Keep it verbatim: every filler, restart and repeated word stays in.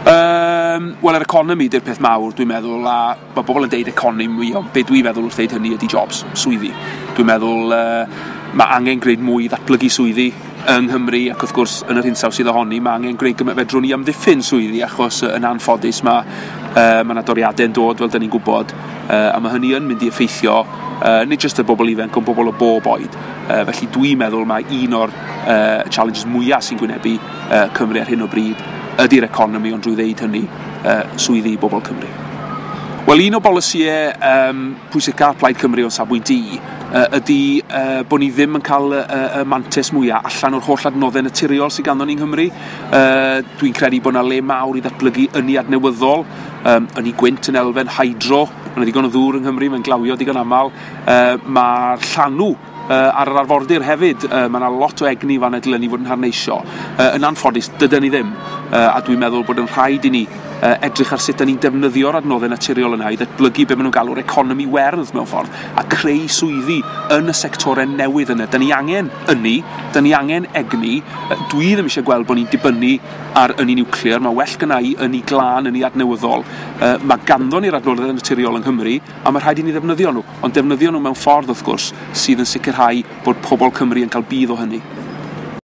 Um, Wel, yr economi di'r peth mawr, dwi'n meddwl, a mae bobl yn deud economi, ond be dwi'n feddwl wrth ddeud hynny ydy jobs, swyddi. Dwi'n meddwl uh, mae angen gwneud mwy i ddatblygu swyddi yng Nghymru, ac wrth gwrs yn yr hinsawdd sydd ohoni, mae angen gwneud gymaint fedrwn ni amddiffyn swyddi, achos yn anffodus mae uh, mae yna doriadau yn dod, fel dyn ni'n gwybod, uh, a mae hynny yn mynd i effeithio uh, nid jyst y bobl ifanc, ond bobl o bob oed. Uh, felly dwi'n meddwl mae un o'r uh, challenges mwyaf sy'n gwynebu uh, Cymru ar hyn o bryd ydy'r economi, ond drwy ddeud hynny, uh, swyddi i bobl Cymru. Wel, un o bolisïau um, pwysica Plaid Cymru o'n safbwynt i uh, ydy uh, bod ni ddim yn cael y, y, y mantais mwyaf allan o'r holl adnoddau naturiol sydd ganddo ni yng Nghymru. Uh, dwi'n credu bod yna le mawr i ddatblygu ynni adnewyddol, um, ynni gwynt yn elfen, hydro, mae yna ddigon o ddŵr yng Nghymru, mae'n glawio digon aml. Uh, Mae'r llanw uh, ar yr arfordir hefyd, uh, mae yna lot o egni fan y dylen ni fod yn harneisio. Uh, yn anffodus, dydyn ni ddim, uh, a dwi'n meddwl bod yn rhaid i ni uh, edrych ar sut da ni'n defnyddio'r adnoddau naturiol yna i ddatblygu be maen nhw'n galw'r economi werdd mewn ffordd, a creu swyddi yn y sectorau newydd yna. Da ni angen ynni, da ni angen egni. Dwi ddim eisiau gweld bod ni'n dibynnu ar ynni niwclear, mae well gynna i ynni glân, ynni adnewyddol. Uh, mae ganddo ni'r adnoddau naturiol yng Nghymru, a mae rhaid i ni ddefnyddio nhw, ond defnyddio nhw mewn ffordd wrth gwrs sydd yn sicrhau bod pobl Cymru yn cael budd o hynny.